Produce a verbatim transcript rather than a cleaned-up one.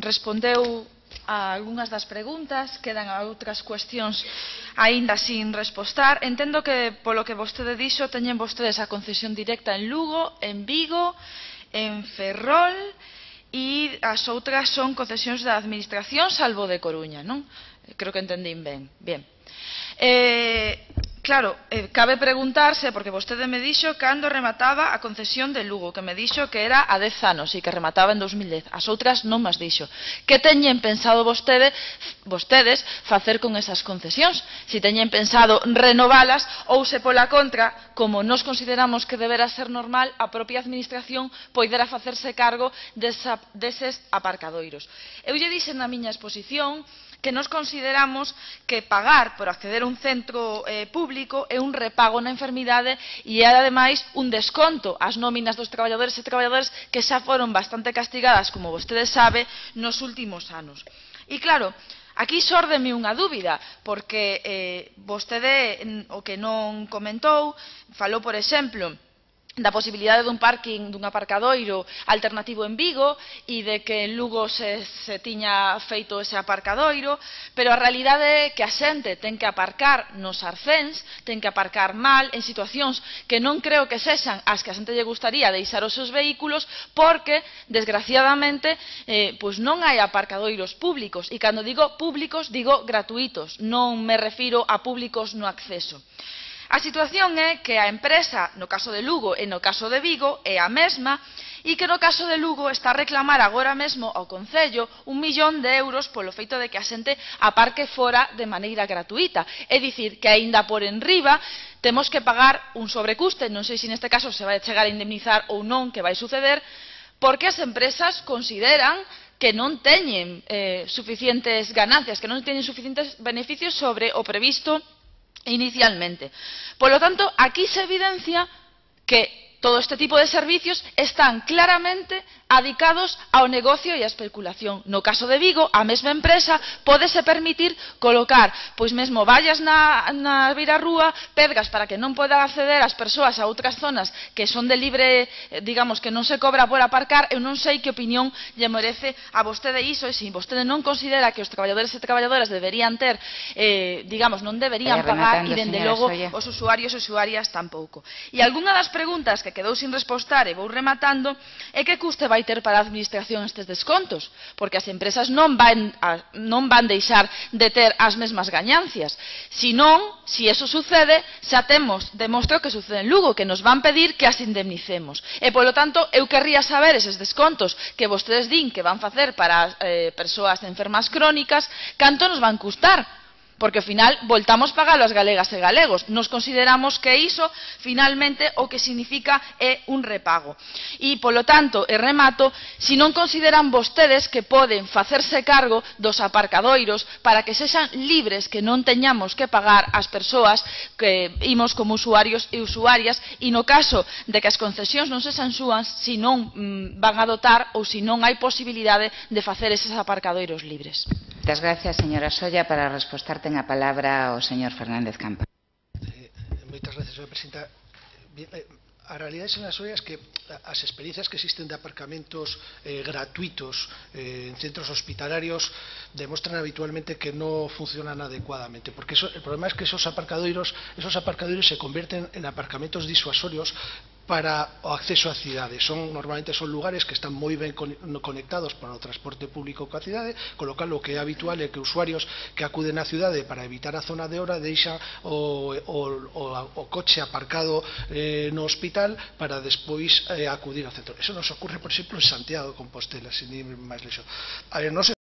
respondeu a algunhas das preguntas, quedan outras cuestións aínda sin respostar. Entendo que, polo que vostede dixo, teñen vostedes a concesión directa en Lugo, en Vigo, en Ferrol, e as outras son concesións da Administración, salvo de Coruña, non? Creo que entendín ben. Bien. Eh, claro, eh, cabe preguntarse, porque vostede me dixo cando remataba a concesión de Lugo, que me dixo que era a dez anos e que remataba en dos mil dez. As outras non mas dixo. Que teñen pensado vostede, vostedes facer con esas concesións? Si teñen pensado renovalas ou se pola contra, como nos consideramos que deberá ser normal, a propia Administración poidera facerse cargo desa, deses aparcadoiros. Eu lle dixen na miña exposición que nos consideramos que pagar por acceder a un centro eh, público é un repago na enfermidade e é, ademais, un desconto ás nóminas dos traballadores e traballadoras que xa foron bastante castigadas, como vostede sabe, nos últimos anos. E, claro, aquí xórdeme unha dúbida, porque eh, vostede, o que non comentou, falou, por exemplo, da posibilidade dun parking, dun aparcadoiro alternativo en Vigo e de que en Lugo se, se tiña feito ese aparcadoiro, pero a realidade é que a xente ten que aparcar nos arcéns, ten que aparcar mal, en situacións que non creo que sexan as que a xente lle gustaría deixar os seus vehículos, porque, desgraciadamente, eh, pois non hai aparcadoiros públicos, e cando digo públicos, digo gratuitos, non me refiro a públicos no acceso. A situación é que a empresa, no caso de Lugo e no caso de Vigo, é a mesma, e que no caso de Lugo está a reclamar agora mesmo ao Concello un millón de euros polo feito de que a xente aparque fora de maneira gratuita. É dicir, que aínda por enriba temos que pagar un sobrecuste, non sei se neste caso se vai chegar a indemnizar ou non, que vai suceder, porque as empresas consideran que non teñen eh, suficientes ganancias, que non teñen suficientes beneficios sobre o previsto inicialmente. Por lo tanto, aquí se evidencia que todo este tipo de servicios están claramente adicados ao negocio e á especulación. No caso de Vigo, a mesma empresa pódese permitir colocar, pois mesmo vallas na, na beirarrúa, pedras para que non podan acceder as persoas a outras zonas que son de libre, digamos, que non se cobra por aparcar. Eu non sei que opinión lle merece a vostede iso, e se vostede non considera que os traballadores e traballadoras deberían ter, eh, digamos, non deberían pagar, e dende logo os usuarios e usuarias tampouco. E algunha das preguntas que quedou sin respostar, e vou rematando, é que custe vai ter para a Administración estes descontos, porque as empresas non van, a, non van deixar de ter as mesmas gañancias. Si non, si eso sucede, xa temos, demostro que sucede en Lugo, que nos van pedir que as indemnicemos. E, polo tanto, eu querría saber eses descontos que vostedes din que van facer para eh, persoas enfermas crónicas, canto nos van custar. Porque, ao final, voltamos pagalo as galegas e galegos. Nos consideramos que iso, finalmente, o que significa é un repago. E, polo tanto, e remato, se non consideran vostedes que poden facerse cargo dos aparcadoiros para que sexan libres, que non teñamos que pagar as persoas que imos como usuarios e usuarias, e no caso de que as concesións non sexan súas, se non mm, van a dotar ou se non hai posibilidade de facer eses aparcadoiros libres. Moitas gracias, señora Solla. Para responder ten a palabra o señor Fernández Campa. Eh, moitas gracias, señora presidenta. Bien, eh, a realidade, señora Solla, é que as experiencias que existen de aparcamentos eh, gratuitos eh, en centros hospitalarios demostran habitualmente que no funcionan adecuadamente, porque eso, el problema es que esos aparcadoiros, esos aparcadoiros se convierten en aparcamentos disuasorios para o acceso á cidade. Son, normalmente son lugares que están moi ben conectados para o transporte público coa cidade, con lo cal o que é habitual é que usuarios que acuden á cidade para evitar a zona de hora deixan o, o, o, o coche aparcado eh, no hospital para despois eh, acudir ao centro. Eso nos ocurre, por exemplo, en Santiago de Compostela, sin ir máis lexo. A ver, non se